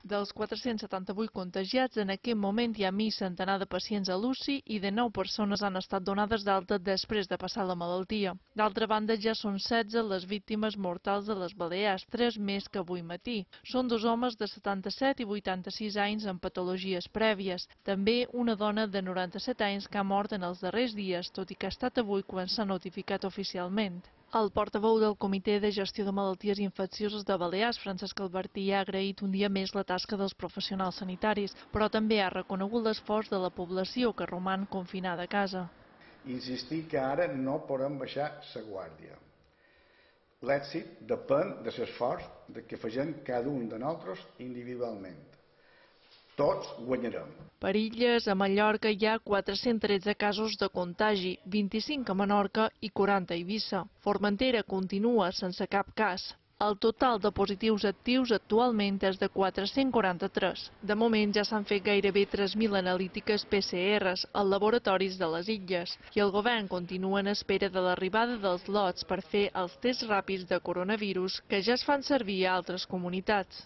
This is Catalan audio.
Dels 478 contagiats, en aquest moment hi ha mig centenar de pacients a l'UCI i de 9 persones han estat donades d'alta després de passar la malaltia. D'altra banda, ja són 16 les víctimes mortals de les Balears, 3 més que avui matí. Són 2 homes de 77 i 86 anys amb patologies prèvies. També una dona de 97 anys que ha mort en els darrers dies, tot i que ha estat avui quan s'ha notificat oficialment. El portaveu del Comitè de Gestió de Malalties Infeccioses de Balears, Francesc Albertí, ha agraït un dia més la tasca dels professionals sanitaris, però també ha reconegut l'esforç de la població que roman confinada a casa. Insistir que ara no podem baixar la guàrdia. L'èxit depèn de l'esforç que facem cada un de nosaltres individualment. Tots guanyarem. Per Illes, a Mallorca hi ha 413 casos de contagi, 25 a Menorca i 40 a Eivissa. Formentera continua sense cap cas. El total de positius actius actualment és de 443. De moment ja s'han fet gairebé 3.000 analítiques PCRs als laboratoris de les Illes i el govern continua en espera de l'arribada dels lots per fer els tests ràpids de coronavirus que ja es fan servir a altres comunitats.